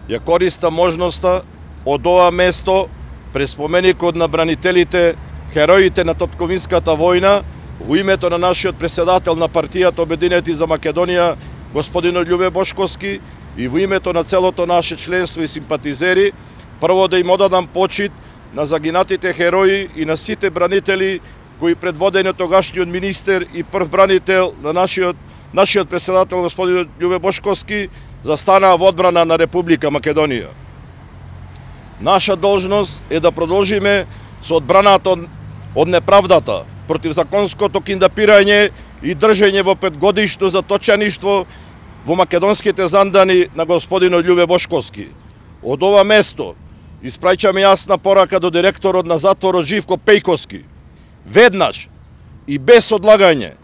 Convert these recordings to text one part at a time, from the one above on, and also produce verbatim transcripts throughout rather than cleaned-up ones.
ја користа можноста од ова место пред споменикот на бранителите, хероите на Татковинската војна, во името на нашиот претседател на партијата Обединети за Македонија, господинот Љубе Бошковски, и во името на целото наше членство и симпатизери, прво да им одадам почит на загинатите херои и на сите бранители кои предводени од тогашниот министер и прв бранител на нашиот нашиот претседател господин Љубе Бошковски застанаа во одбрана на Република Македонија. Наша должност е да продолжиме со одбраната од, од неправдата, противзаконското киндапирање и држење во петгодишно заточеништво во македонските зандани на господинот Љубе Бошковски. Од ова место испраќаме јасна порака до директорот на затворот Живко Пејковски, веднаш и без одлагање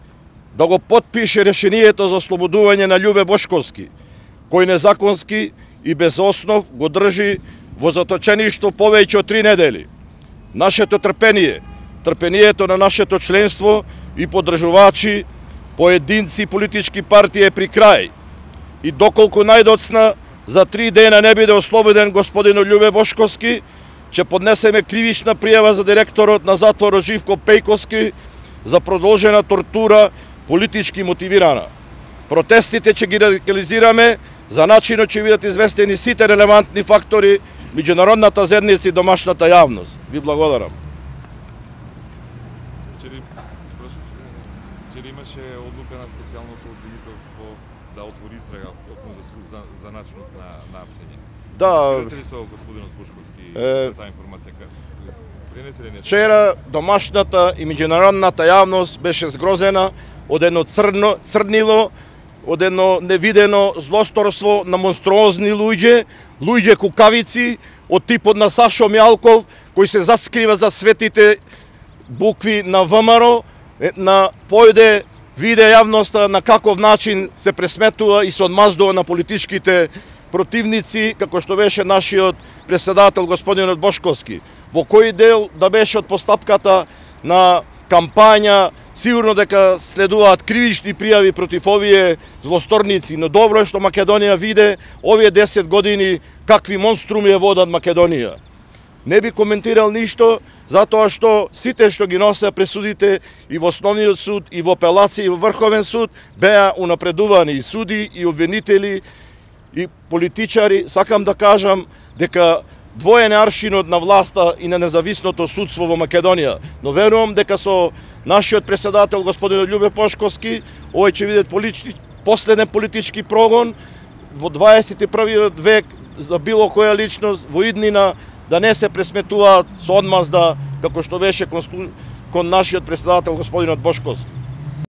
да го потпише решението за ослободување на Љубе Бошковски, кој незаконски и без основ го држи во заточеништво повеќе од три недели. Нашето трпение, трпението на нашето членство и поддржувачи, поединци и политички партии е при крај. И доколку најдоцна за три дена не биде ослободен господинот Љубе Бошковски, ќе поднесеме кривична пријава за директорот на затворот Живко Пејковски за продолжена тортура, политички мотивирана. Протестите ќе ги радикализираме, за начинот ќе бидат известени сите релевантни фактори, меѓународната заедница и домашната јавност. Ви благодарам. Вчера имаше одлука на специјалното обвинителство да отвори истрага токму за, за, за начинот на, на апсење. Да. Кажете ли со господинот Бошковски е... таа информација? Пренесе ли не? Вчера домашната и меѓународната јавност беше згрозена од едно црно, црнило, од едно невидено злосторство на монструозни луѓе, луѓе кукавици од типот на Сашо Мјалков, кој се заскрива за светите букви на ВМРО, на појде виде јавноста на каков начин се пресметува и се одмаздува на политичките противници, како што беше нашиот претседател господинот Бошковски. Во кој дел да беше од постапката на кампања, сигурно дека следуваат кривични пријави против овие злосторници, но добро е што Македонија виде овие десет години какви монструми ја водат Македонија. Не би коментирал ништо, затоа што сите што ги носеа пресудите и во Основниот суд, и во апелација, и во Врховен суд, беа унапредувани и суди, и обвинители, и политичари. Сакам да кажам дека двоен е аршинот на власта и на независното судство во Македонија, но верувам дека со нашиот претседател господин Љубе Бошковски овој ќе биде политички, последен политички прогон во дваесет и првиот век за било која личност во иднина да не се пресметуваат со одмазда како што беше кон, кон нашиот претседател господинот Бошковски.